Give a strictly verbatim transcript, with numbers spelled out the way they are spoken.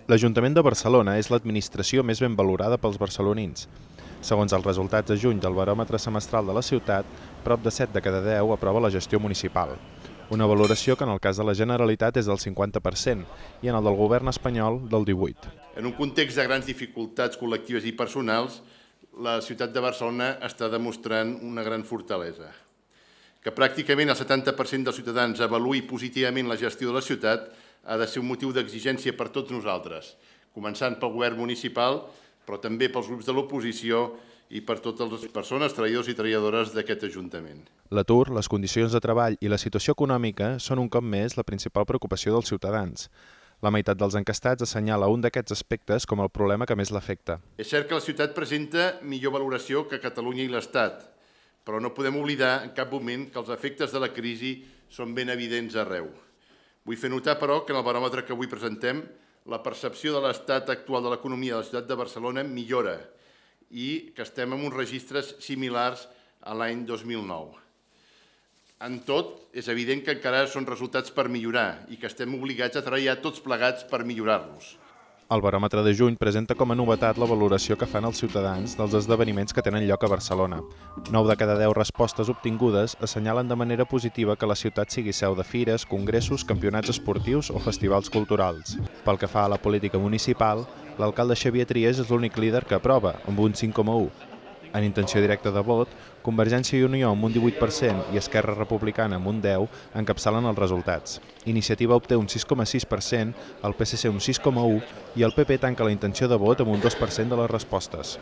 L'Ajuntament de Barcelona és l'administració més ben valorada pels barcelonins. Segons els resultats de juny del baròmetre semestral de la ciutat, prop de set de cada deu aprova la gestió municipal. Una valoració que en el cas de la Generalitat és del cinquanta per cent i en el del govern espanyol del divuit per cent. En un context de grans dificultats col·lectives i personals, la ciutat de Barcelona està demostrant una gran fortalesa. Que pràcticament el setanta per cent dels ciutadans avaluï positivament la gestió de la ciutat ha de ser un motiu d'exigència per tots nosaltres, començant pel govern municipal, però també pels grups de l'oposició i per totes les persones, treballadors i treballadores d'aquest Ajuntament. L'atur, les condicions de treball i la situació econòmica són un cop més la principal preocupació dels ciutadans. La meitat dels encastats assenyala un d'aquests aspectes com el problema que més l'afecta. És cert que la ciutat presenta millor valoració que Catalunya i l'Estat, però no podem oblidar en cap moment que els efectes de la crisi són ben evidents arreu. Vull fer notar, però, que en el baròmetre que avui presentem, la percepció de l'estat actual de l'economia de la ciutat de Barcelona millora i que estem en uns registres similars a l'any dos mil nou. En tot, és evident que encara són resultats per millorar i que estem obligats a treballar tots plegats per millorar-los. El baròmetre de juny presenta com a novetat la valoració que fan els ciutadans dels esdeveniments que tenen lloc a Barcelona. nou de cada deu respostes obtingudes assenyalen de manera positiva que la ciutat sigui seu de fires, congressos, campionats esportius o festivals culturals. Pel que fa a la política municipal, l'alcalde Xavier Trias és l'únic líder que aprova, amb un cinc coma u. En intenció directa de vot, Convergència i Unió amb un divuit per cent i Esquerra Republicana amb un deu per cent encapçalen els resultats. Iniciativa obté un sis coma sis per cent, el P S C un sis coma u i el P P tanca la intenció de vot amb un dos per cent de les respostes.